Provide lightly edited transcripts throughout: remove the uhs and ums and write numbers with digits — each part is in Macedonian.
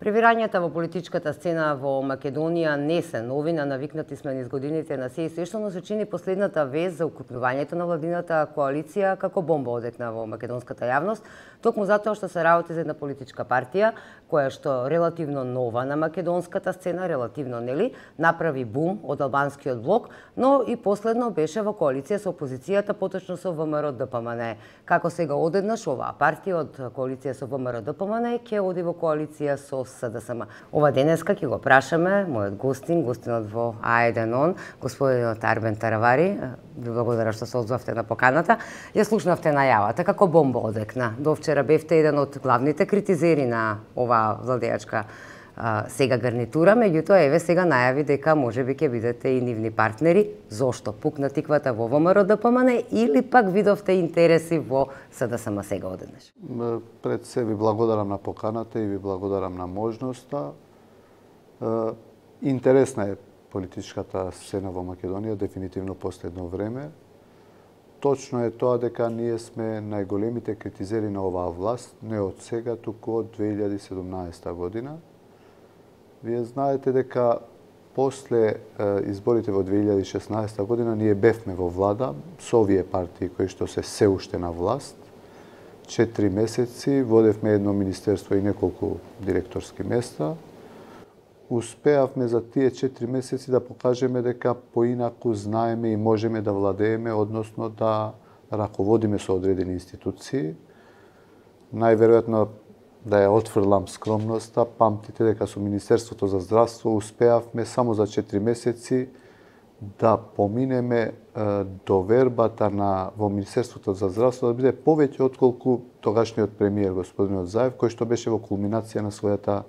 Превирањата во политичката сцена во Македонија не се новина, навикнати сме низ годините на се и свешто, но се чини последната вест за укрупнувањето на владината коалиција како бомба одекна во македонската јавност, токму затоа што се работи за една политичка партија која што релативно нова на македонската сцена, релативно нели, направи бум од албанскиот блок, но и последно беше во коалиција со опозицијата, поточно со ВМРО-ДПМН. Како сега одеднаш оваа партија од коалиција со ВМРО-ДПМН ќе оди во коалиција со СДСМ. Ова денеска ќе го прашаме мојот гостинот во А1 господинот Арбен Таравари. Ви благодарам што се одзвавте на поканата. Ја слушнавте најавата како бомба одекна. До вчера бевте еден од главните критизери на оваа владеачка сега гарнитура, меѓутоа еве сега најави дека можеби ќе бидете и нивни партнери. Зошто пукна тиквата во ВМРО-ДПМН или пак видовте интереси во СДСМ сега одеднаш? Пред се ви благодарам на поканата и ви благодарам на можноста. Интересна е политичката сцена во Македонија дефинитивно последно време. Точно е тоа дека ние сме најголемите критизери на оваа власт, не од сега, туку од 2017 година. Вие знаете дека после изборите во 2016 година ние бевме во влада со овие партии кои што се уште на власт. 4 месеци водевме едно министерство и неколку директорски места. Успеавме за тие 4 месеци да покажеме дека поинаку знаеме и можеме да владееме, односно да раководиме со одредени институции. Најверојатно да ја отфрлам скромноста, памтите дека со Министерството за здравство успеавме само за 4 месеци да поминеме довербата во Министерството за здравство да биде повеќе отколку тогашниот премиер господинот Заев, кој што беше во кулминација на својата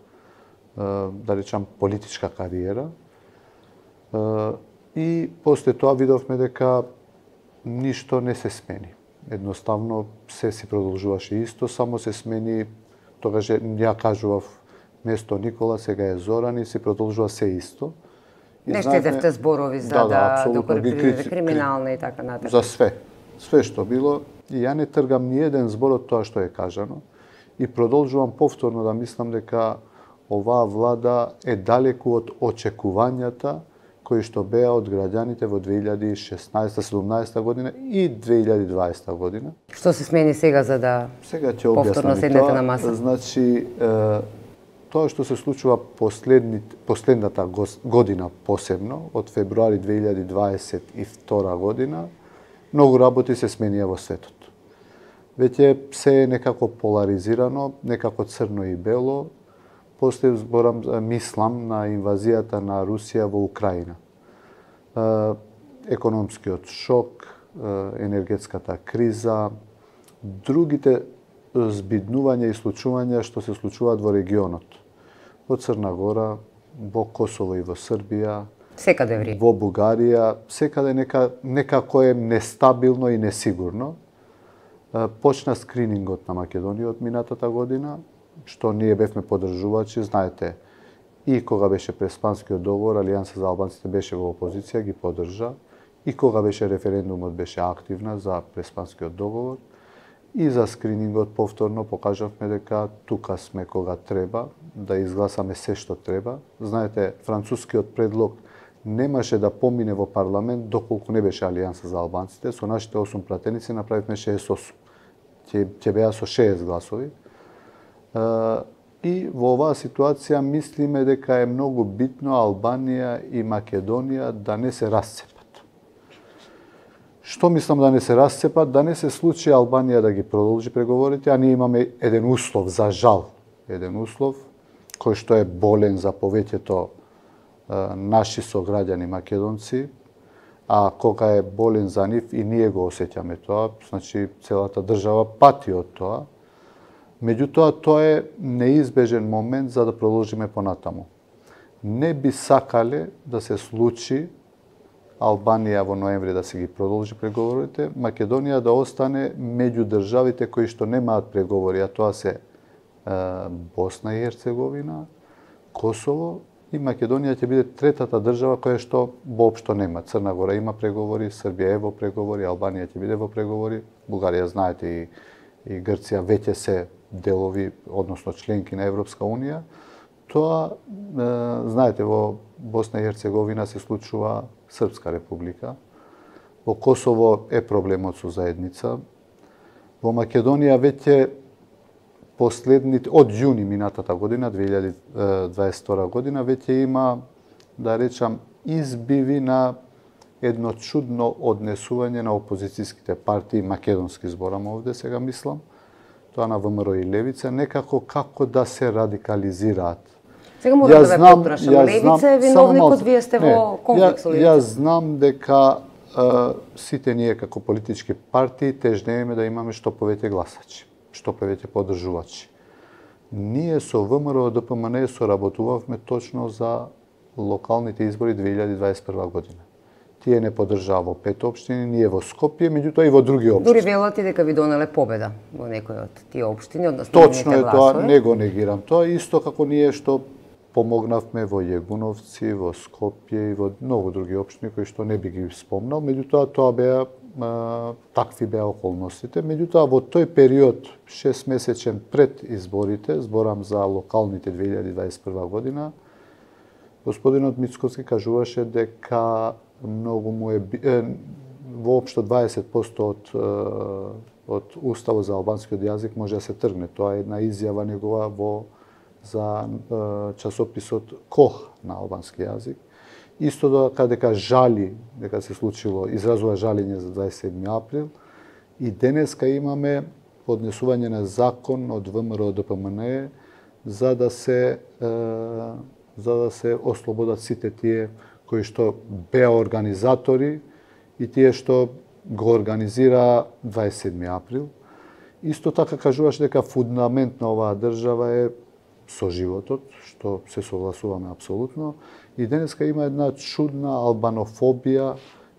да речам политичка кариера. И после тоа видовме дека ништо не се смени. Едноставно се си продолжуваше исто, само се смени. Тогаш ја кажував место Никола, сега е Зоран и се продолжува се исто. Не штедевте зборови за да криминална и така натаму. За све. Све што било. И ја не тргам ни еден збор од тоа што е кажано. И продолжувам повторно да мислам дека оваа влада е далеку од очекувањата кои што беа од граѓаните во 2016-17 година и 2020 година. Што се смени сега за да повторно седнете на маса? Значи, тоа што се случува последната година посебно, од февруари 2022 година, многу работи се сменија во светот. Веќе се е некако поларизирано, некако црно и бело. После мислам на инвазијата на Русија во Украина. Економскиот шок, енергетската криза, другите збиднувања и случувања што се случуваат во регионот. Во Црна Гора, во Косово и во Србија, секаде во Бугарија, секаде некако е нестабилно и несигурно. Почна скринингот на Македонија од минатата година, што ние бевме поддржувачи, знаете, и кога беше Преспанскиот договор, Алијанса за албанците беше во опозиција, ги поддржа, и кога беше референдумот беше активна за Преспанскиот договор, и за скринингот повторно покажавме дека тука сме кога треба, да изгласаме се што треба. Знаете, францускиот предлог немаше да помине во парламент доколку не беше Алијанса за албанците, со нашите 8 пратеници направивме 68. Ќе беа со 6 гласови. И во оваа ситуација мислиме дека е многу битно Албанија и Македонија да не се расцепат. Што мислам да не се расцепат? Да не се случи Албанија да ги продолжи преговорите, а ние имаме еден услов, за жал, еден услов, кој што е болен за повеќето наши сограѓани македонци, а кога е болен за нив и ние го осеќаме тоа, значи целата држава пати од тоа. Меѓутоа, тоа е неизбежен момент за да продолжиме понатаму. Не би сакале да се случи Албанија во ноември да се ги продолжи преговорите, Македонија да остане меѓу државите кои што немаат преговори, а тоа се Босна и Херцеговина, Косово и Македонија ќе биде третата држава која што воопшто нема. Црна Гора има преговори, Србија е во преговори, Албанија ќе биде во преговори, Бугарија знаете и Грција веќе се делови, односно членки на Европска Унија. Тоа, знаете, во Босна и Херцеговина се случува Српска република. Во Косово е проблемот со заедница. Во Македонија веќе последните, од јуни минатата година, 2022 година, веќе има, да речам, избиви на едно чудно однесување на опозицијските партии, македонски зборам овде, сега мислам, тоа на ВМРО и Левица, некако како да се радикализираат. Сега мора да ве потрашам. Левица е виновникот, вие сте во конфликт со Левица. Јас знам дека сите ние како политички партии тежнееме да имаме што повеќе гласачи, што повеќе поддржувачи. Ние со ВМРО ДПМН соработувавме точно за локалните избори 2021 година. Тие не поддржаа во 5 општини, ние во Скопје, меѓутоа и во други општини. Дури велате дека ви донеле победа во некои од тие општини, односно точно е тоа, не го негирам тоа, исто како ние што помогнавме во Јегуновци, во Скопје и во многу други општини кои што не би ги спомнал, меѓутоа тоа беа такви беа околностите. Меѓутоа во тој период 6 месечен пред изборите, зборам за локалните 2021 година, господинот Мицкоски кажуваше дека многу му е воопшто 20% од уставот за албанскиот јазик може да се тргне. Тоа е една изјава негова за часописот Кох на албански јазик. Исто дека жали дека се случило, изразува жалење за 27 април и денеска имаме поднесување на закон од ВМРО ДПМН за да се ослободат сите тие кои што беа организатори и тие што го организира 27 април. Исто така кажуваше дека фундамент на оваа држава е со животот, што се согласуваме апсолутно. И денеска има една чудна албанофобија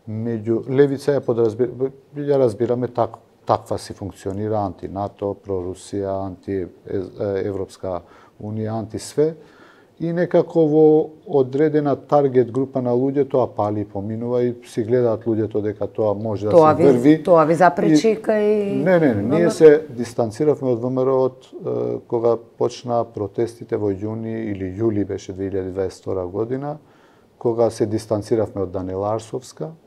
меѓу Левица ја разбираме таква си функционира анти-НАТО, про-Русија, анти-Европска унија, анти-све. И некако во одредена таргет група на луѓе тоа пали и поминува и си гледаат луѓето дека тоа може да се врви. Тоа ви запречи кај... Не, ние се дистанциравме од ВМРО од кога почна протестите во јуни или јули беше 2022 година, кога се дистанциравме од Данела Арсовска.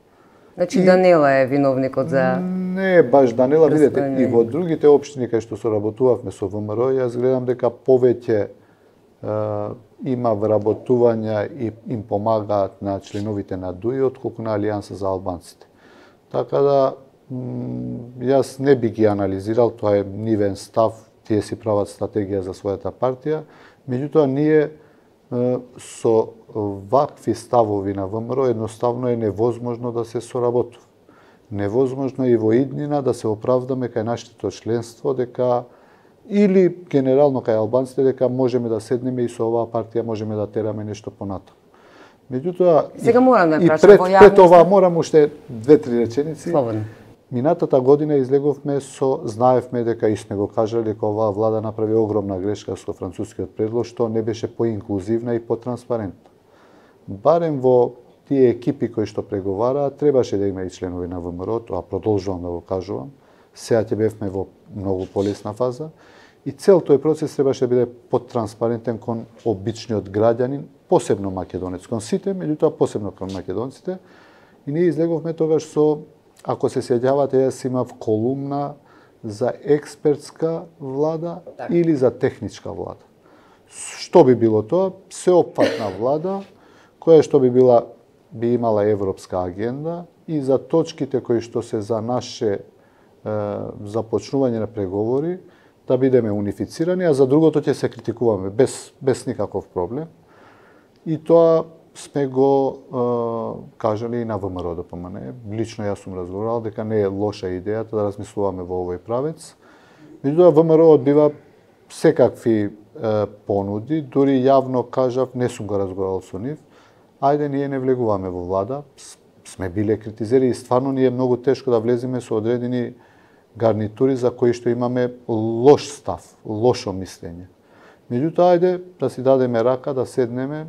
Значи Данела е виновникот за... Не, баш Данела, видете, и во другите општини кај што соработувавме со ВМРО, јас гледам дека повеќе има вработувања и им помагаат на членовите на ДУИ отколку на Алијанса за албанците. Така да, јас не би ги анализирал, тоа е нивен став, тие си прават стратегија за својата партија, меѓутоа ние со вакви ставови на ВМРО едноставно е невозможно да се соработува. Невозможно и во иднина да се оправдаме кај нашето членство дека или генерално кај албанците дека можеме да седнеме и со оваа партија можеме да тераме нешто понатаму. Меѓутоа сега морам да прашам во јавност. Пред ова морам уште 2-3 реченици. Слободно. Минатата година излеговме знаевме дека и сме го кажале дека оваа влада направи огромна грешка со францускиот предлог што не беше поинклузивна и потранспарентна. Барем во тие екипи кои што преговараат требаше да има и членови на ВМРО, тоа продолжувам да го кажувам. Сега ќе бевме во многу полесна фаза и цел тој процес требаше да биде поттранспарентен кон обичниот граѓанин, посебно македонец, кон сите, меѓутоа посебно кон македонците. И ние излеговме тогаш со, ако се сеќавате, јас имав колумна за експертска влада или за техничка влада. Што би било тоа? Сеопфатна влада, која што би имала европска агенда и за точките кои што се за наше започнување на преговори, да бидеме унифицирани, а за другото ќе се критикуваме без никаков проблем. И тоа сме го кажали и на ВМРО ДПМН. Лично јас сум разговарал дека не е лоша идејата да размислуваме во овој правец. Меѓутоа ВМРО одбива секакви понуди, дури јавно кажав, не сум го разговарал со нив, ајде ние не влегуваме во влада, сме биле критизери и стварно ни е многу тешко да влеземе со одредени гарнитури за кои што имаме лош став, лошо мислење. Меѓутоа, ајде да си дадеме рака, да седнеме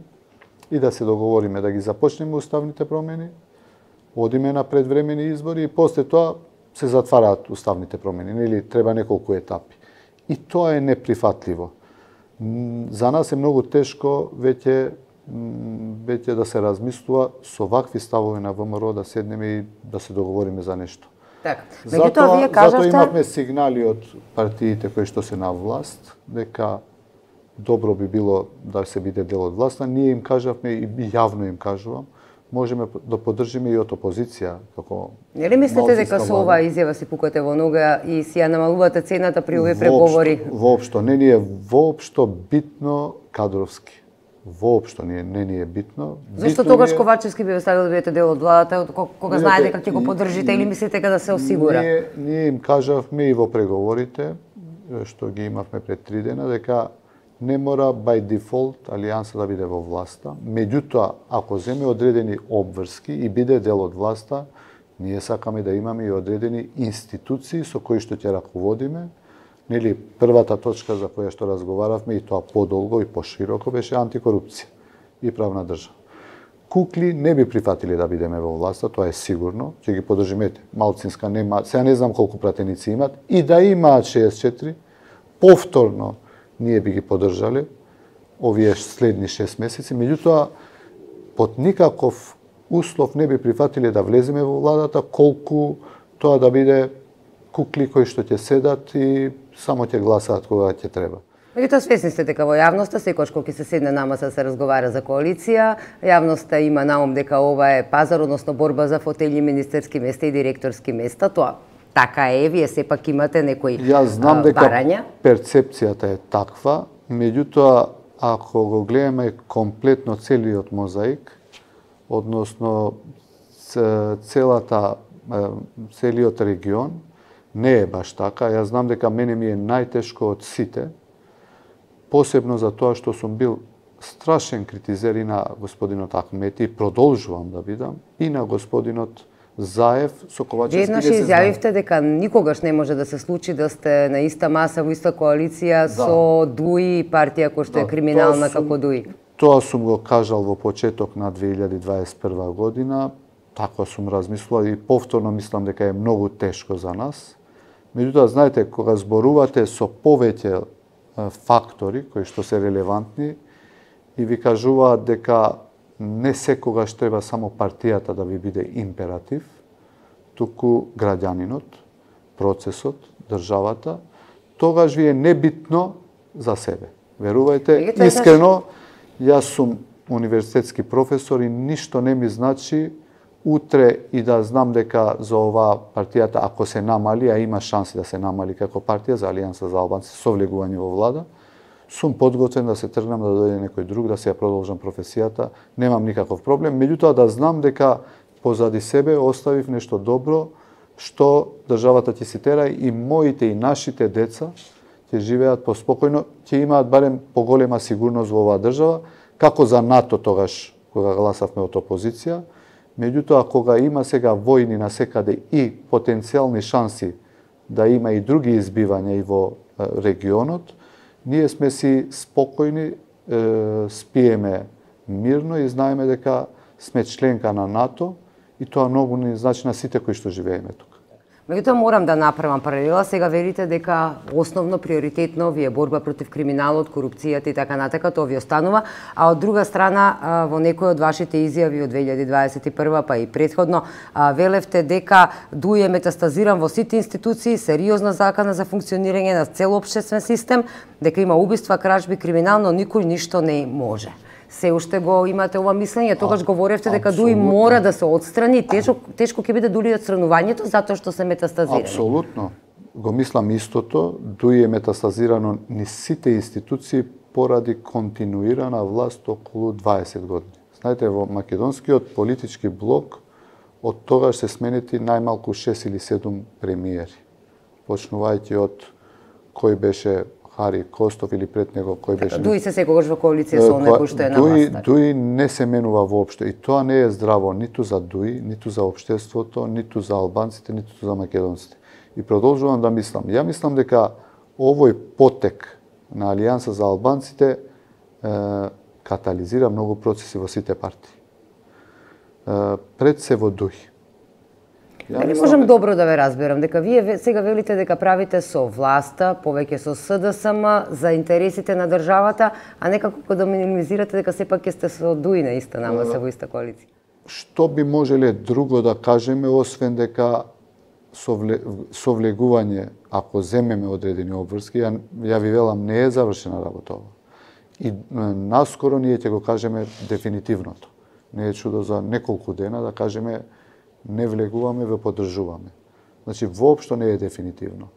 и да се договориме, да ги започнеме уставните промени, одиме на предвремени избори и после тоа се затвараат уставните промени, или треба неколку етапи. И тоа е неприфатливо. За нас е многу тешко веќе да се размислува со вакви ставови на ВМРО да седнеме и да се договориме за нешто. Така. Меѓутоа вие кажавте, затоа имавме сигнали од партиите кои што се на власт дека добро би било да се биде дел од власта. Ние им кажавме и јавно им кажувам, можеме да поддржиме и од опозиција како. Нели мислите дека со оваа изјава си пукате во нога и си ја намалувате цената при овие преговори? Воопшто не ни е воопшто битно кадровски. Воопшто не ни е битно. Зошто тогаш Ковачевски би ве ставил да бидете дел од владата кога знаете дека ќе го поддржите или мислите дека да се осигура? Ние им кажавме и во преговорите што ги имавме пред 3 дена дека не мора by default Алијанса да биде во власта. Меѓутоа, ако земе одредени обврски и биде дел од власта, ние сакаме да имаме и одредени институции со кои што ќе раководиме. Нели, првата точка за која што разговаравме и тоа подолго и пошироко беше антикорупција и правна држава. Кукли не би прифатиле да бидеме во власта, тоа е сигурно, ќе ги поддржиме. Малцинска нема, сега не знам колку пратеници имат, и да имаат 64, повторно ние би ги поддржале овие следни 6 месеци, меѓутоа под никаков услов не би прифатиле да влеземе во владата, колку тоа да биде кукли кои што ќе седат и само ќе гласаат кога ќе треба. Меѓутоа свесни сте дека во јавноста секогаш кога ќе се седне на маса се разговара за коалиција, јавноста има наум дека ова е пазар, односно борба за фотели, министерски места и директорски места. Тоа така е, вие сепак имате некои барања. Јас знам дека перцепцијата е таква, меѓутоа ако го гледаме комплетно целиот мозаик, односно целиот регион, не е баш така. Јас знам дека мене ми е најтешко од сите, посебно за тоа што сум бил страшен критизер и на господинот Ахмети, и продолжувам да бидам, и на господинот Заев со Ковачевски. Еднаш изјавивте дека никогаш не може да се случи да сте на иста маса во иста коалиција со ДУИ, партија која што е криминална како ДУИ. Тоа сум го кажал во почеток на 2021 година, така сум размислувал и повторно мислам дека е многу тешко за нас. Меѓутоа, знаете, кога зборувате со повеќе фактори кои што се релевантни и ви кажуваат дека не секогаш треба само партијата да ви биде императив, туку граѓанинот, процесот, државата, тогаш ви е небитно за себе. Верувајте, искрено, јас сум универзитетски професор и ништо не ми значи утре и да знам дека за оваа партијата, ако се намали, а има шанси да се намали како партија за Алијанса за албанци со влегување во влада, сум подготвен да се тргнам да дојде некој друг, да се ја продолжам професијата, немам никаков проблем. Меѓутоа да знам дека позади себе оставив нешто добро, што државата ќе си тера и моите и нашите деца ќе живеат поспокојно, ќе имаат барем поголема сигурност во оваа држава, како за НАТО тогаш кога гласавме од опозиција. Меѓутоа, кога има сега војни насекаде и потенцијални шанси да има и други избивања и во регионот, ние сме си спокојни, спиеме мирно и знаеме дека сме членка на НАТО и тоа многу ни значи на сите кои што живееме тука. Меѓутоа морам да направам паралела. Сега верите дека основно приоритетно ви е борба против криминалот, корупцијата и така натака, тоа ви останува, а од друга страна во некои од вашите изјави од 2021 па и претходно велевте дека ДУИ е метастазиран во сите институции, сериозна закана за функционирање на цел општествен систем, дека има убиства, кражби, криминал, но никој ништо не може. Се уште го имате ова мислење, тогаш говоревте дека ДУИ мора да се отстрани, тешко ќе биде дури отстранувањето затоа што се метастазирани. Апсолутно. Го мислам истото, ДУИ е метастазирано низ сите институции поради континуирана власт околу 20 години. Знаете, во македонскиот политички блок од тогаш се сменети најмалку 6 или 7 премиери. Почнувајќи од кој беше Хари Костов или пред него кој беше. ДУИ се секогаш во коалиција со некој што е на власт. ДУИ не се менува воопшто и тоа не е здраво ниту за ДУИ, ниту за општеството, ниту за албанците, ниту за македонците. И продолжувам да мислам. Ја мислам дека овој потек на Алијанса за албанците катализира многу процеси во сите партии. Пред се во ДУИ. Дали можам добро да ве разберам, дека вие сега велите дека правите со власта, повеќе со СДСМ за интересите на државата, а некако да минимизирате дека сепак ќе сте со ДУИ на иста нама се во иста коалиција? Што би можеле друго да кажеме, освен дека совлегување, ако земеме одредени обврски, ја ви велам, не е завршена работа ова. И наскоро ние ќе го кажеме дефинитивното. Не е чудо за неколку дена да кажеме не влегуваме, ве поддржуваме. Значи, воопшто не е дефинитивно.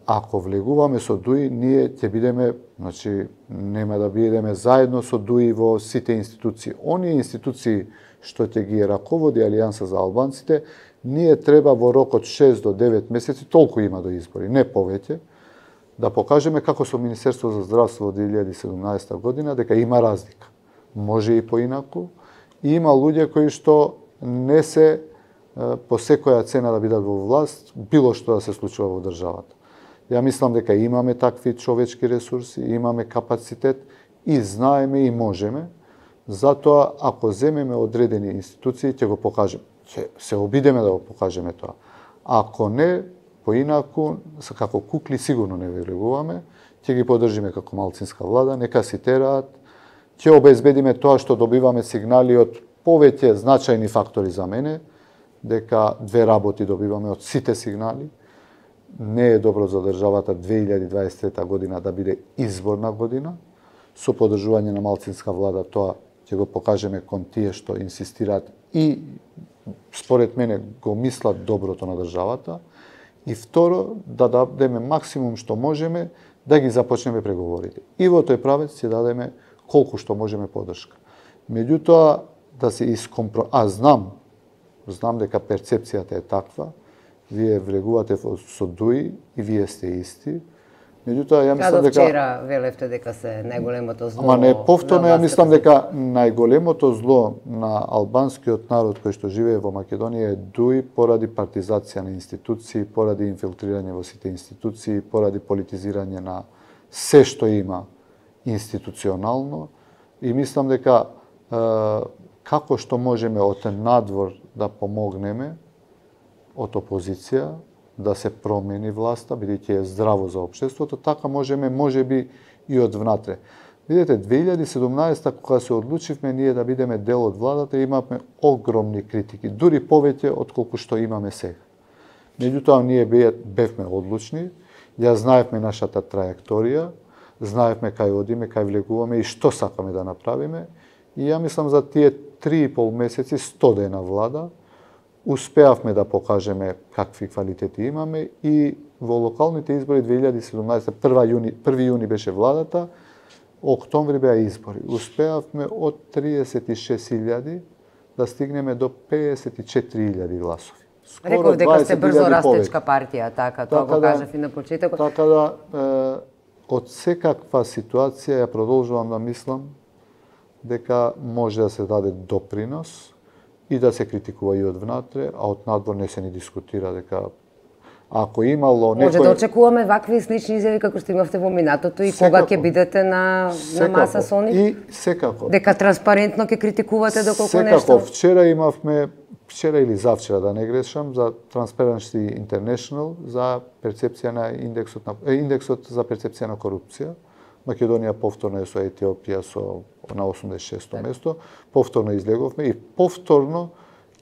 Ако влегуваме со ДУИ, ние ќе бидеме, значи, нема да бидеме заедно со ДУИ во сите институции. Оние институции што ќе ги раководи Алијанса за албанците, ние треба во рок од 6 до 9 месеци, толку има до избори, не повеќе, да покажеме како со Министерство за здравство од 2017 година, дека има разлика. Може и поинаку. И има луѓе кои што не се по секоја цена да бидат во власт, било што да се случува во државата. Ја мислам дека имаме такви човечки ресурси, имаме капацитет и знаеме и можеме. Затоа, ако земеме одредени институции, ќе го покажеме. Ќе се обидеме да го покажеме тоа. Ако не, поинаку, како кукли сигурно не влегуваме, ќе ги поддржиме како малцинска влада, нека си тераат, ќе обезбедиме тоа што добиваме сигнали од повеќе значајни фактори за мене, дека две работи добиваме од сите сигнали. Не е добро за државата 2023 година да биде изборна година. Со поддржување на малцинска влада тоа ќе го покажеме кон тие што инсистираат и според мене го мислат доброто на државата. И второ, да дадеме максимум што можеме да ги започнеме преговорите. И во тој правец ќе дадеме колку што можеме поддршка. Меѓутоа, да се знам дека перцепцијата е таква, вие влегувате со ДУИ и вие сте исти. Меѓутоа, ја мислам дека... вчера велевте дека се најголемото зло... Ама не, повторно ја мислам дека најголемото зло на албанскиот народ кој што живее во Македонија е ДУИ поради партизација на институции, поради инфилтрирање во сите институции, поради политизирање на се што има институционално. И мислам дека како што можеме од надвор да помогнеме од опозиција, да се промени власта, бидејќи е здраво за општеството, така можеме, можеби и од внатре. Видете, 2017 кога се одлучивме ние да бидеме дел од владата, имавме огромни критики, дури повеќе од колку што имаме сега. Меѓутоа, ние бевме одлучни, ја знаевме нашата траекторија, знаевме кај одиме, кај влегуваме и што сакаме да направиме. И ја мислам за тие 3,5 месеци, 100 дена влада, успеавме да покажеме какви квалитети имаме и во локалните избори 2017, 1 јуни беше владата, октомври беа избори. Успеавме од 36.000 да стигнеме до 54.000 гласови. Реков дека сте брзо растечка партија, така, тоа го кажав и на почетокот. Така да, од секаква ситуација ја продолжувам да мислам дека може да се даде допринос и да се критикува и од внатре, а од надвор не се ни дискутира дека ако имало некој... Може да очекуваме вакви слични изјави како што имавте во минатото и кога ќе бидете на маса со нив? И секако. Дека транспарентно ќе критикувате доколку нешто? Секако, вчера или завчера, да не грешам, за Transparency International за перцепција на индексот за перцепција на корупција. Македонија повторно е со Етиопија на 86-то место, повторно излеговме и повторно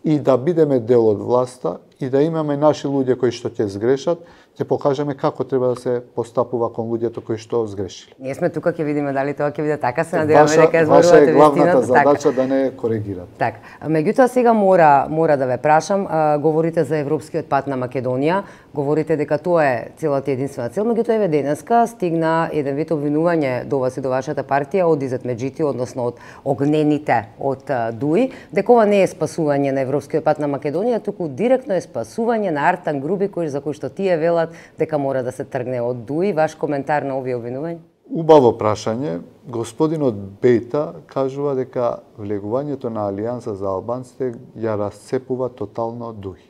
и да бидеме дел од власта и да имаме наши луѓе кои што ќе сгрешат, ќе покажеме како треба да се постапува кон луѓето кои што сгрешили. Ние сме тука, ќе видиме дали тоа ќе биде така, се надеваме дека зборувате вистината. Ваша е главната задача така. Да не коригирате. Така. Меѓутоа сега мора да ве прашам, говорите за европскиот пат на Македонија, говорите дека тоа е целата единствена цел, меѓутоа еве денеска стигна еден вид обвинување до вас и до вашата партија од Изет Меджити, односно од огнените од ДУИ, дека ова не е спасување на европскиот пат на Македонија, туку директно е спасување на Артан Груби, за кој што тие велат дека мора да се тргне од ДУИ. Ваш коментар на овие обвинувања? Убаво прашање. Господинот Бејта кажува дека влегувањето на Алијанса за албанците ја расцепува тотално ДУИ.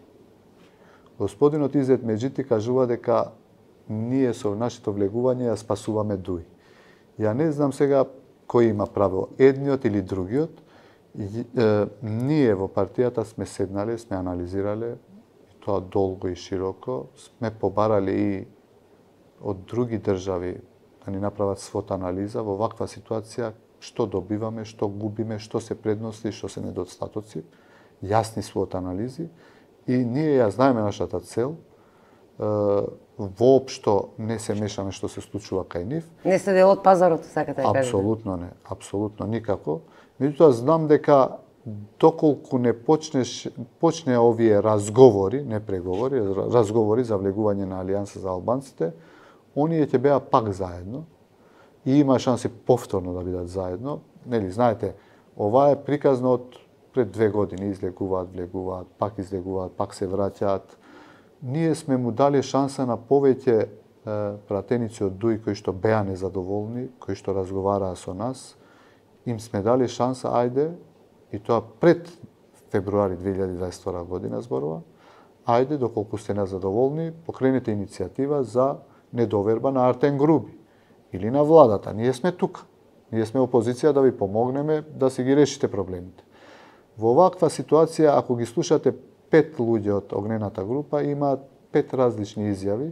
Господинот Изет Меджити кажува дека ние со нашето влегување ја спасуваме ДУИ. Ја не знам сега кој има право, едниот или другиот. Ние во партијата сме седнале, сме анализирале, тоа долго и широко. Сме побарали и од други држави да ни направат свот анализа во ваква ситуација, што добиваме, што губиме, што се предности, што се недостатоци, јасни свот анализи и ние ја знаеме нашата цел. Воопшто не се мешаме што се случува кај нив. Не сте дел од пазарот, сакате да кажете? Апсолутно не, апсолутно никако. Меѓутоа знам дека доколку не почне овие разговори, не преговори, разговори за влегување на Алијанса за албанците, оние ќе беа пак заедно и има шанси повторно да бидат заедно. Нели, знаете, ова е приказно од пред 2 години, излегуваат, влегуваат, пак излегуваат, пак се враќаат. Ние сме му дали шанса на повеќе пратеници од ДУИ кои што беа незадоволни, кои што разговараа со нас, им сме дали шанса, ајде, и тоа пред февруари 2022 година зборува, ајде, доколку сте незадоволни, покренете иницијатива за недоверба на Артем Груби или на владата. Ние сме тука. Ние сме опозиција да ви помогнеме да си ги решите проблемите. Во ваква ситуација, ако ги слушате 5 луѓе од огнената група, имаат 5 различни изјави,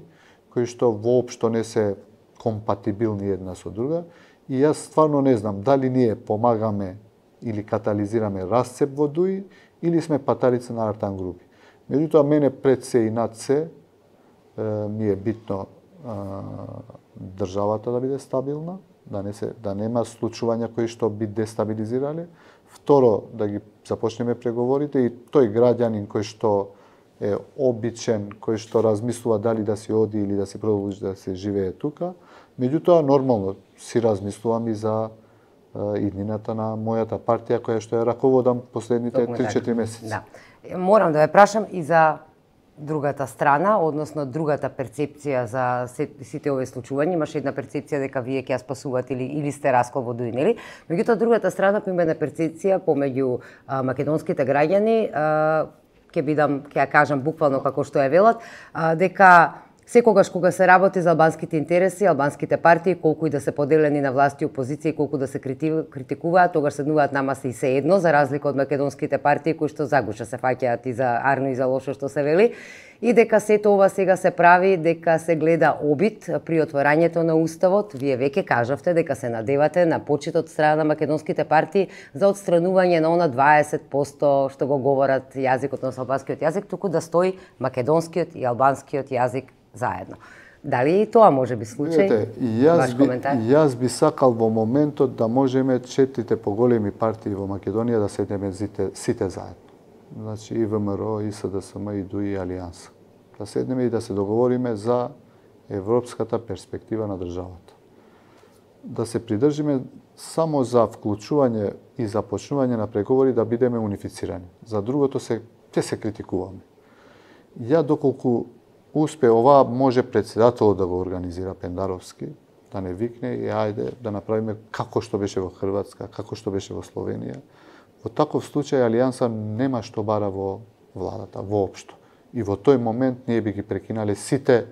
кои што воопшто не се компатибилни една со друга, и јас стварно не знам дали ние помагаме или катализираме расцеп во ДУИ, или сме паталица на Артем Груби. Меѓутоа, мене пред се и над се ми е битно државата да биде стабилна, да нема случувања кои што би дестабилизирале. Второ, да ги започнеме преговорите и тој граѓанин кој што е обичен, кој што размислува дали да си оди или да си продолжи да се живее тука. Меѓутоа, нормално си размислувам и за иднината на мојата партија која што ја раководам последните 3-4 месеци. Да. Морам да ве прашам и за другата страна, односно другата перцепција за сите овие случувања. Имаше една перцепција дека вие ќе ја спасувате или сте раскол во ДУИ, нели? Меѓутоа, другата страна има една перцепција помеѓу македонските граѓани, ќе ја кажам буквално како што ја велат, дека секогаш кога се работи за албанските интереси, албанските партии, колку и да се поделени на власти и опозиција и колку да се критикуваат, тогаш седнуваат нама се и се едно, за разлика од македонските партии кои што загуша се фаќаат и за арно и за лошо што се вели, и дека сето ова сега се прави, дека се гледа обид при отворањето на уставот. Вие веќе кажавте дека се надевате на почит од страна на македонските партии за отстранување на она 20% што го говорат јазикот на албанскиот јазик, туку да стои македонскиот и албанскиот јазик заедно. Дали и тоа може би случај? Ваш коментар? Јас би сакал во моментот да можеме 4 поголеми партии во Македонија да седнеме сите заедно. Значи и ВМРО, и СДСМ, и ДУИ, и Алијанса. Да седнеме и да се договориме за европската перспектива на државата. Да се придржиме само за вклучување и започнување на преговори да бидеме унифицирани. За другото ќе се критикуваме. Ја доколку успе ова, може председателот да го организира Пендаровски, да не викне и ајде да направиме како што беше во Хрватска, како што беше во Словенија. Во таков случај Алијанса нема што бара во владата, воопшто. И во тој момент ние би ги прекинале сите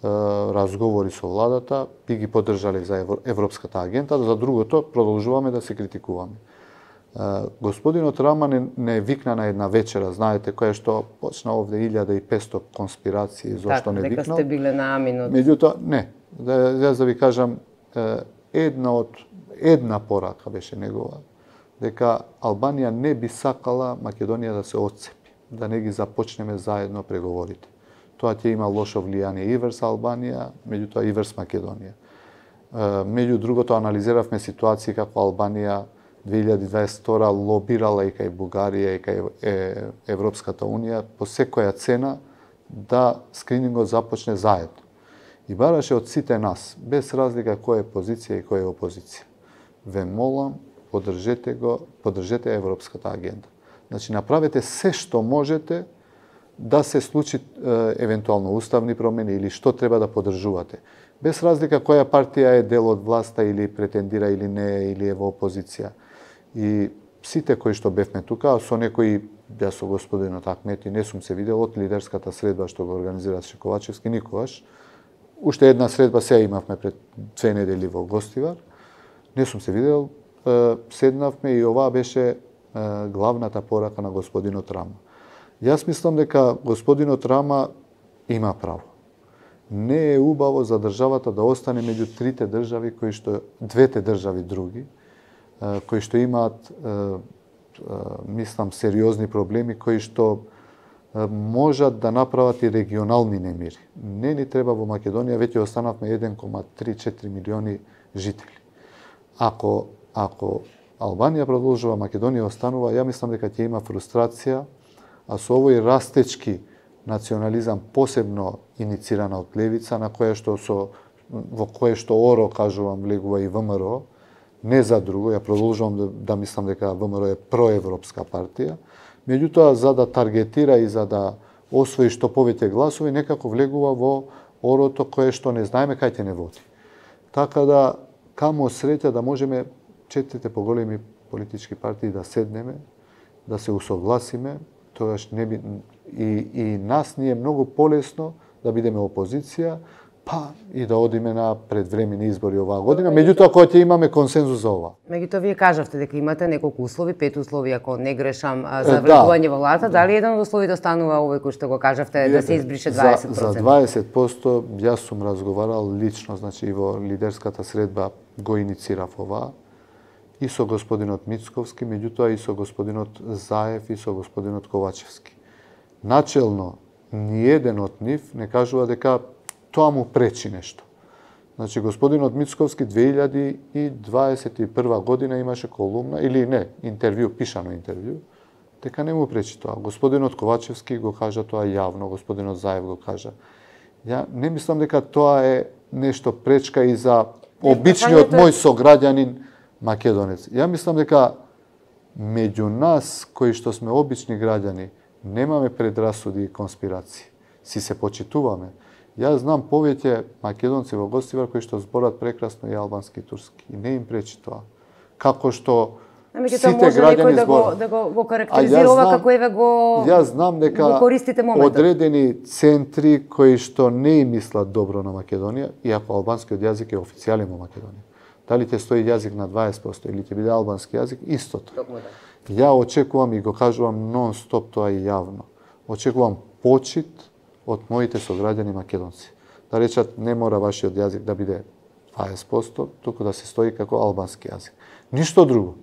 разговори со владата, би ги поддржале за Европската агента, за другото продолжуваме да се критикуваме. Господинот Рама не викна на една вечера, знаете, која што почна овде 1500 конспирации, зошто не викнал. Дека сте биле на Аминот. Меѓутоа, не. Јас да ви кажам, една порака беше негова, дека Албанија не би сакала Македонија да се отцепи, да не ги започнеме заедно преговорите. Тоа ќе има лошо влијание и врз Албанија, меѓутоа и врз Македонија. Меѓу другото, анализиравме ситуации како Албанија 2022 лобирала и кај Бугарија и кај Европската Унија по секоја цена да скринингот започне заедно. И бараше од сите нас, без разлика кој е позиција и кој е опозиција. Ве молам, поддржете Европската агенда. Значи, направете се што можете да се случи евентуално уставни промени или што треба да поддржувате. Без разлика која партија е дел од власта или претендира или не, или е во опозиција. И сите кои што бевме тука, со некои, ја со господинот Ахмети, не сум се видел од лидерската средба што го организираше Ковачевски никогаш. Уште една средба сега имавме пред 2 недели во Гостивар. Не сум се видел, седнавме и ова беше главната порака на господинот Рама. Јас мислам дека господинот Рама има право. Не е убаво за државата да остане меѓу трите држави двете држави други, кои што имаат мислам сериозни проблеми, кои што можат да направат и регионални немири. Не ни треба во Македонија, веќе останавме 1,3-4 милиони жители. Ако Албанија продолжува, Македонија останува, ја мислам дека ќе има фрустрација, а со овој растечки национализам, посебно иницирана од левица, во кое што оро, кажувам, влегува и ВМРО, не за друго, ја продолжувам да мислам дека ВМРО е проевропска партија, меѓутоа за да таргетира и за да освои што повеќе гласови, некако влегува во орото кое што не знаеме кај ќе не води. Така да, камо среќа да можеме четирите поголеми политички партии да седнеме, да се усогласиме, тогаш не би и нас ни е многу полесно да бидеме опозиција, па и да одиме на предвремени избори оваа година, меѓутоа кога ќе имаме консензус за ова. Меѓутоа вие кажавте дека имате неколку услови, 5 услови, ако не грешам, за влегување во владата, дали еден од условите станува овој кој што го кажавте да се избрише 20%? За 20% јас сум разговарал лично, значи и во лидерската средба го иницирав ова, и со господинот Мицковски, меѓутоа и со господинот Заев и со господинот Ковачевски. Начелно, ниеден од нив не кажува дека тоа му пречи нешто. Значи, господинот Мицковски 2021 година имаше колумна, или не, интервју, пишано интервју, дека не му пречи тоа. Господинот Ковачевски го кажа тоа јавно, господинот Заев го кажа. Ја не мислам дека тоа е нешто пречка и за обичниот мој сограѓанин македонец. Ја мислам дека меѓу нас, кои што сме обични граѓани, немаме предрасуди и конспирации. Си се почитуваме. Јас знам повеќе македонци во Гостивар кои што зборат прекрасно и албански и турски. И не им пречи тоа. Како што сите граѓани зборат. Да го карактеризира ова како еве го Јас знам дека користите моментот. Одредени центри кои што не им мислат добро на Македонија, иако албанскиот јазик е официјален во Македонија. Дали ќе стои јазик на 20% или ќе биде албански јазик, истото. Ја очекувам и го кажувам нон-стоп тоа и јавно. Очекувам почит од моите сограѓани македонци. Да речат, не мора вашиот јазик да биде 20%, туку да се стои како албански јазик. Ништо друго.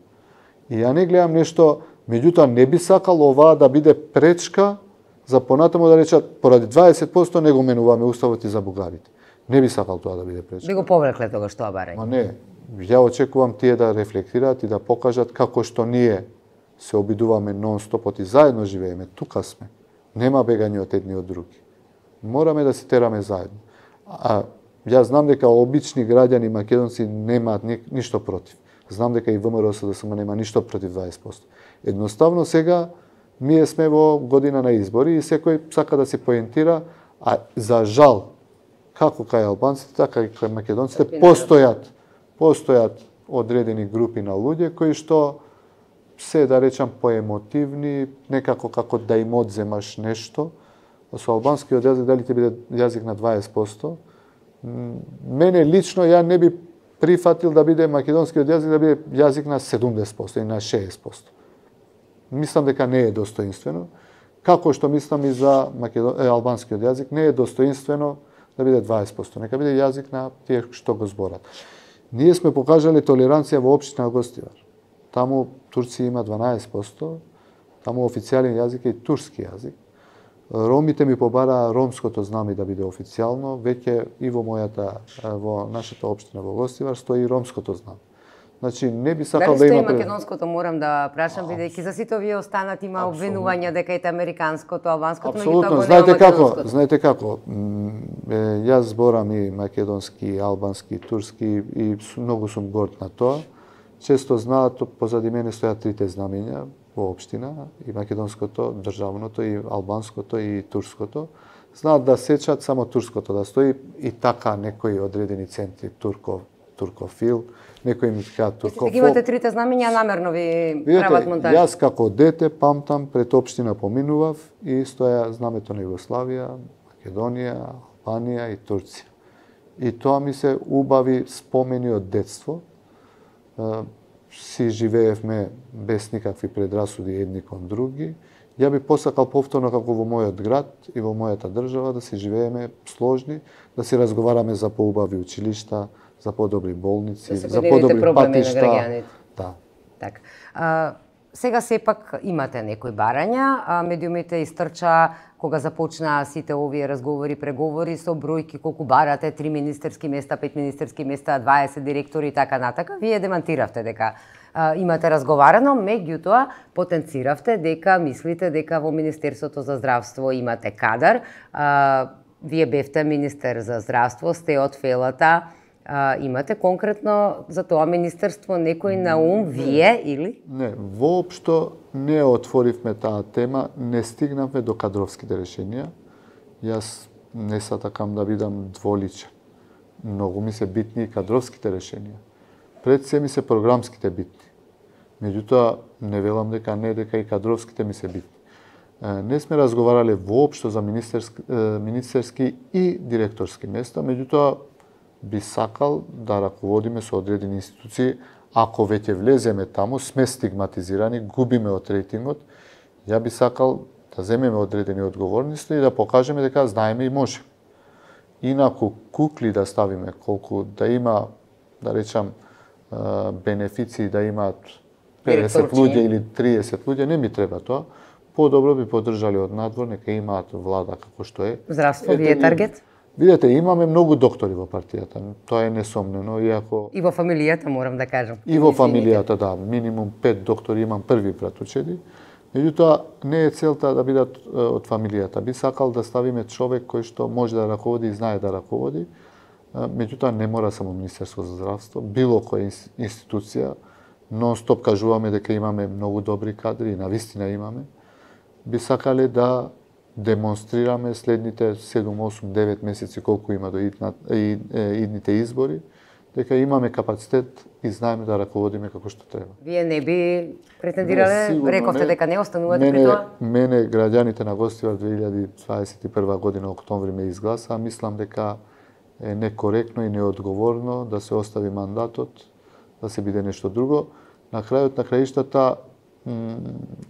И ја не гледам нешто, меѓутоа не би сакал оваа да биде пречка за понатаму да речат, поради 20% не го менуваме уставот и за бугарите. Не би сакал тоа да биде пречка. Би го поврекле тогаш тоа барање. Ма не, ја очекувам тие да рефлектираат и да покажат како што ние се обидуваме нон-стопот и заедно живееме, тука сме. Нема бегање од едни од други. Мораме да се тераме заедно. А јас знам дека обични граѓани македонци немаат ништо против. Знам дека и ВМРО СДСМ нема ништо против 20%. Едноставно сега ние сме во година на избори и секој сака да се поентира, а за жал, како кај албанците, така и кај македонците, постојат одредени групи на луѓе кои што се, да речам, поемотивни, некако како да им одземаш нешто. Со албанскиот јазик, дали ќе биде јазик на 20%, мене лично ја не би прифатил да биде македонскиот јазик да биде јазик на 70% и на 60%. Мислам дека не е достоинствено. Како што мислам и за албанскиот јазик, не е достоинствено да биде 20%. Нека биде јазик на тие што го зборат. Ние сме покажале толеранција во општина Гостивар. Таму Турција има 12%, таму официјален јазик е и турски јазик. Ромите ми побараа ромското знаме да биде официјално, веќе и во нашата општина во Гостивар стои ромското знаме. Значи не би сакал да има македонското, морам да прашам, бидејќи за сите овие останат има обвинувања дека ете американското, албанското, апсолутно, знаете како, јас зборам и македонски, албански, турски и многу сум горд на тоа. Често знаат, позади мене стојат трите знамења во општина, и македонското, државното, и албанското, и турското. Знаат да сечат само турското да стои и така некои одредени центри, туркофил, некои ми кажат туркофоб. Вие имате трите знамења, намерно ви прават монтаж. Јас како дете памтам, пред општина поминував и стоја знамето на Југославија, Македонија, Албанија и Турција. И тоа ми се убави спомени од детство. Си живеевме без никакви предрасуди едни кон други Ја би посакал повторно како во мојот град и во мојата држава да си живееме сложни, да си разговараме за поубави училишта, за подобри болници, за подобри патишта. Да. Така. Сега сепак имате некои барања, медиумите истрча кога започнаа сите овие разговори, преговори со бројки колку барате, 3 министерски места, 5 министерски места, 20 директори и така натака. Вие демантиравте дека имате разговарано, меѓутоа потенциравте дека мислите дека во Министерството за здравство имате кадар. Вие бевте министер за здравство, сте од Фелата, имате конкретно за тоа министерство некој на ум, вие или? Не, воопшто не отворивме таа тема, не стигнавме до кадровските решенија. Јас не сакам да бидам дволичен. Многу ми се битни и кадровските решенија. Пред се ми се програмските битни. Меѓутоа, не велам дека не, дека и кадровските ми се битни. Не сме разговарале воопшто за министерски и директорски места, меѓутоа би сакал да раководиме со одредени институции. Ако веќе влеземе таму, сме стигматизирани, губиме од рейтингот, ја би сакал да земеме одредени одговорности и да покажеме дека знаеме и можеме. Инаку кукли да ставиме колку да има, да речам, бенефиции да имаат 50 луѓе или 30 луѓе, не ми треба тоа. Подобро би поддржали од надвор, нека имаат влада како што е. Здравство ви е таргет? Видете, имаме многу доктори во партијата, тоа е несомнено, иако... И во фамилијата, морам да кажам. И во фамилијата, да, минимум 5 доктори имам, први братучеди. Меѓутоа, не е целта да бидат од фамилијата. Би сакал да ставиме човек кој што може да раководи и знае да раководи. Меѓутоа, не мора само Министерство за здравство, било која институција. Нон-стоп кажуваме дека имаме многу добри кадри и навистина имаме. Би сакале да демонстрираме следните 7, 8, 9 месеци колку има до идните избори, дека имаме капацитет и знаеме да раководиме како што треба. Вие не би претендирале, рековте дека не останувате при тоа? Мене граѓаните на Гостивар 2021 година октомври ме изгласа, мислам дека е некоректно и неодговорно да се остави мандатот, да се биде нешто друго. На крајот на краиштата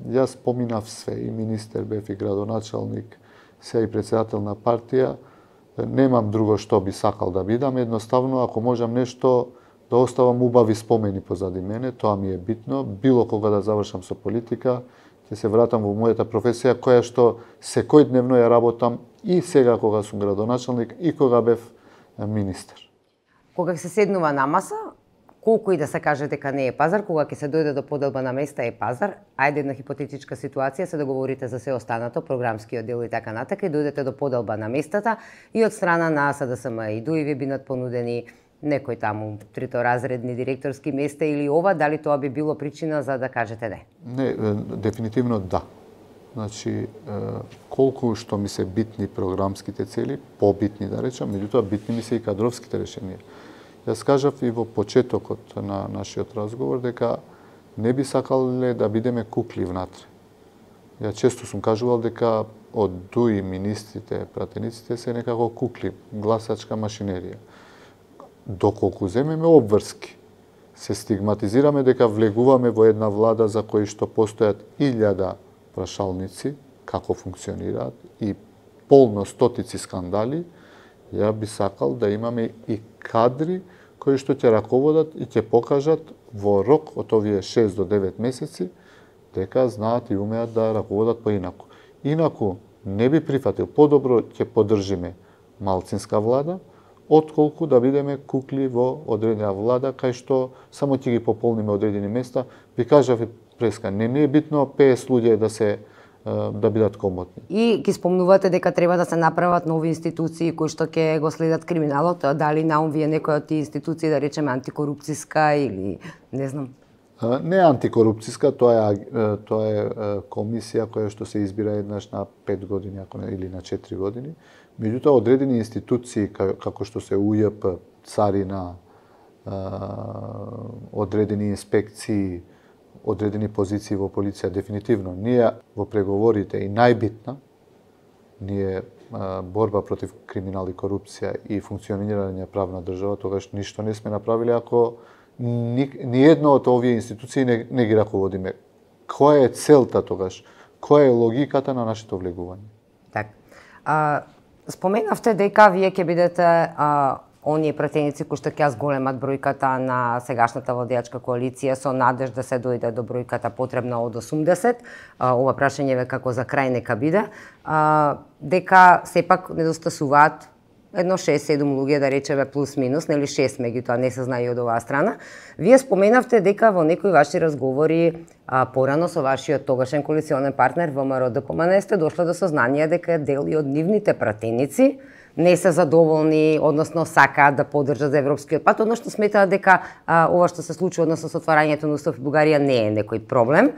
јас поминав све, и министер бев, и градоначалник, се и председател на партија. Немам друго што би сакал да бидам, едноставно ако можам нешто да оставам убави спомени позади мене, тоа ми е битно. Било кога да завршам со политика, ќе се вратам во мојата професија, која што секојдневно ја работам и сега кога сум градоначалник и кога бев министер. Кога се седнува на маса, колку и да се каже дека не е пазар, кога ќе се дојде до поделба на места е пазар, ајде една хипотетичка ситуација, се договорите за се останато, програмскиот дел и така натака, и дојдете до поделба на местата и од страна на СДСМ и ДУИ ви бидат понудени некој таму трitoразредни директорски места или ова, дали тоа би било причина за да кажете не? Не, дефинитивно да. Значи, колку што ми се битни програмските цели, побитни да речам, меѓутоа битни ми се и кадровските решенија. Јас кажав и во почетокот на нашиот разговор дека не би сакале да бидеме кукли внатре. Ја често сум кажувал дека од ДУИ министрите, пратениците се некако кукли, гласачка машинерија. Доколку земеме обврски, се стигматизираме дека влегуваме во една влада за кои што постојат 1000 прашалници, како функционираат, и полно стотици скандали, ја би сакал да имаме и кадри кои што ќе раководат и ќе покажат во рок од овие 6 до 9 месеци дека знаат и умеат да раководат поинаку. Инаку не би прифатил, подобро ќе поддржиме малцинска влада, отколку да бидеме кукли во одредена влада, кај што само ќе ги пополниме одредени места. Ви кажав и преска, не е битно 50 луѓе да бидат комотни. И ги спомнувате дека треба да се направат нови институции кои што ќе го следат криминалот, дали наум ви е некоја од тие институции, да речеме антикорупцијска или не знам? Не антикорупцијска, тоа е комисија која што се избира еднаш на 5 години или на 4 години. Меѓутоа одредени институции како што се УЈП, царина, одредени инспекции, одредени позиции во полиција, дефинитивно. Ние во преговорите и најбитна, ние борба против криминал и корупција и функционирање правна држава, тогаш ништо не сме направиле ако ни една од овие институции не ги раководиме. Која е целта тогаш? која е логиката на нашето влегување. Так. Споменавте дека вие ќе бидете оние пратеници кои што ќе зголемат бројката на сегашната владеачка коалиција со надеж да се дојде до бројката потребна од 80. Ова прашање ве како за крај нека биде. Дека сепак недостасуваат едно 6-7 луѓе, да речеме плюс минус, нели 6 меѓутоа не се знае од оваа страна. Вие споменавте дека во некои ваши разговори порано со вашиот тогашен коалиционен партнер ВМРО-ДПМН сте дошле до сознание дека дел и од нивните пратеници не се задоволни, односно сакаат да поддржат за европскиот пат, односно сметаат дека ова што се случи односно со отварањето на Устав Бугарија не е некој проблем.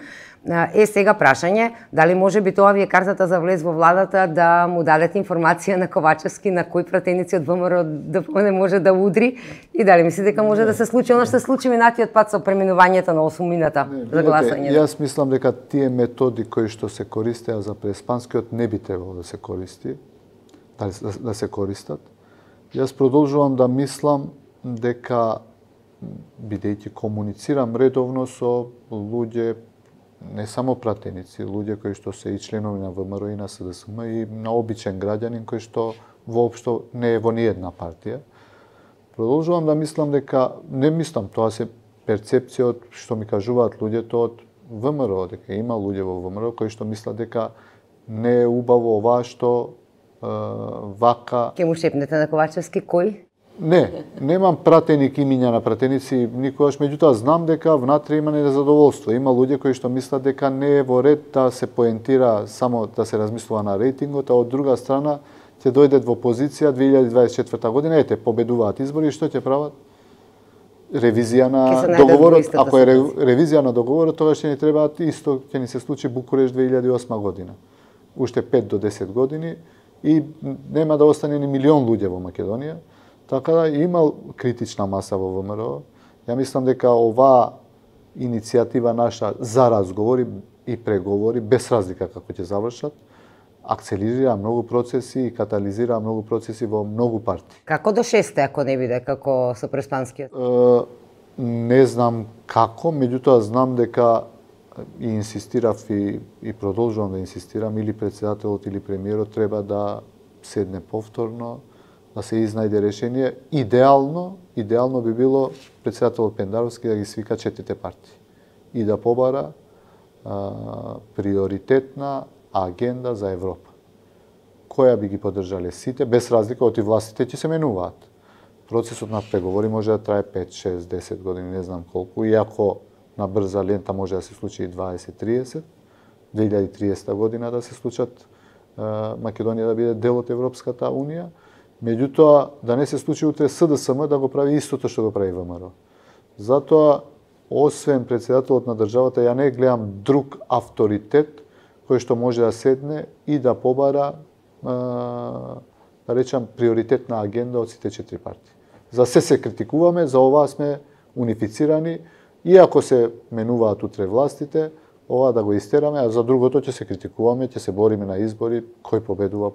Сега прашање, дали може би тоа ви е картата за влез во владата да му дадете информација на Ковачевски на кои пратеници од ВМРО-ДПМН може да удри и дали мислите дека може да се случи она што се случи минатиот пат со преминувањето на 8-мината за гласање? Јас мислам дека тие методи кои што се користеа за преспанскиот не би требало да се користи. Да се користат. Јас продолжувам да мислам дека, бидејќи комуницирам редовно со луѓе, не само пратеници, луѓе кои што се и членови на ВМРО и на СДСМ и на обичен граѓанин кој што воопшто не е во ниедна партија, продолжувам да мислам дека, не мислам, тоа се перцепција од што ми кажуваат луѓето од ВМРО, дека има луѓе во ВМРО кои што мислат дека не е убаво ова што вака... Ке му шепнете на Ковачевски кој? Не, немам пратеник имиња на пратеници никогаш, меѓутоа знам дека внатре има незадоволство. Има луѓе кои што мислат дека не е во ред да се поентира само да се размислува на рейтингот, а од друга страна ќе дојдат во позиција 2024 година, ете, победуваат избори и што ќе прават? Ревизија на договорот. Ако е ревизија на договорот, тогаш ќе ни требаат исто, ќе ни се случи Букуреш 2008 година. Уште 5 до 10 години и нема да остане ни милион луѓе во Македонија. Така да има критична маса во ВМРО. Ја мислам дека оваа иницијатива наша за разговори и преговори, без разлика како ќе завршат, акцелерира многу процеси и катализира многу процеси во многу партии. Како до 6 ако не биде како со преспанскиот? Не знам како, меѓутоа знам дека и инсистирав и продолжувам да инсистирам, или председателот или премиерот треба да седне повторно, да се изнајде решение. Идеално би било председателот Пендаровски да ги свика 4 партии и да побара приоритетна агенда за Европа, која би ги поддржале сите, без разлика од и властите ќе се менуваат. Процесот на преговори може да трае 5, 6, 10 години, не знам колку, иако на брза лента може да се случи и 20-30, 2030 година да се случат Македонија да биде дел од Европската Унија, меѓутоа да не се случи утре СДСМ да го прави истото што го прави ВМРО. Затоа, освен председателот на државата, ја не гледам друг авторитет кој што може да седне и да побара, да речам, приоритетна агенда од сите 4 партии. За се критикуваме, за оваа сме унифицирани, иако се менуваат утре властите, ова да го истераме, а за другото ќе се критикуваме, ќе се бориме на избори, кој победува.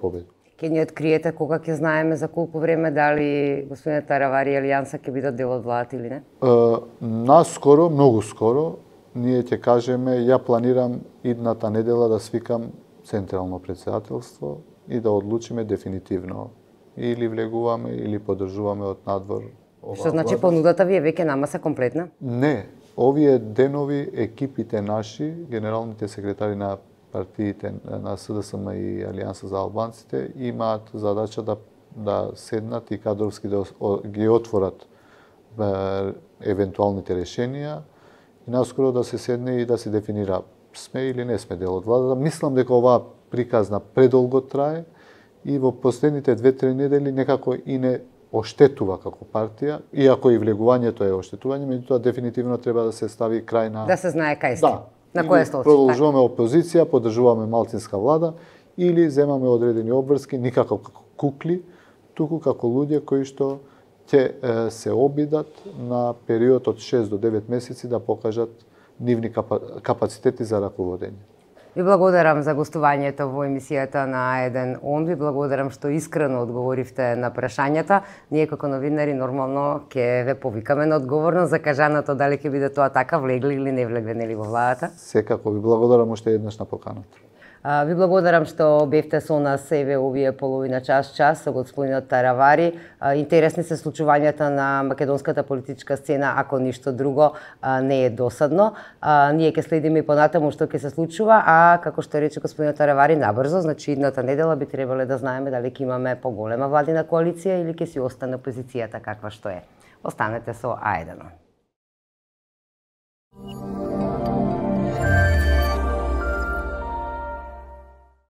Ке ни откриете кога ќе знаеме за колку време дали господин Таравари и Алијанса ќе бидат дел од владата или не? Наскоро, многу скоро, ние ќе кажеме, ја планирам идната недела да свикам централно председателство и да одлучиме дефинитивно или влегуваме или поддржуваме од надвор. Што значи понудата ви е веќе на маса комплетна? Не, овие денови екипите наши, генералните секретари на партиите на СДСМ и Алијанса за албанците имаат задача да седнат и кадровски да ги отворат евентуалните решенија и наскоро да се седне и да се дефинира сме или не сме дел од владата. Мислам дека оваа приказна предолго трае и во последните 2-3 недели некако и не оштетува како партија, иако и влегувањето е оштетување, меѓутоа дефинитивно треба да се стави крај на... Да се знае кај сте. Да. На која стол? Продолжуваме опозиција, поддржуваме малцинска влада или земаме одредени обврски, никако како кукли, туку како луѓе кои што ќе се обидат на период од 6 до 9 месеци да покажат нивни капацитети за раководење. Ви благодарам за гостувањето во емисијата на А1 ОН. Ви благодарам што искрено одговоривте на прашањата. Ние како новинари нормално ќе ве повикаме на одговорност за кажаното дали ќе биде тоа така, влегли или не влегли во владата. Секако ви благодарам уште еднаш на поканата. Ви благодарам што бевте со нас еве овие половина час со господинот Таравари. Интересни се случувањата на македонската политичка сцена, ако ништо друго не е досадно. Ние ќе следиме и понатаму што ќе се случува, а како што рече господинот Таравари, набрзо, значи идната недела би требале да знаеме дали ќе имаме поголема владина коалиција или ќе си остане опозицијата каква што е. Останете со А1.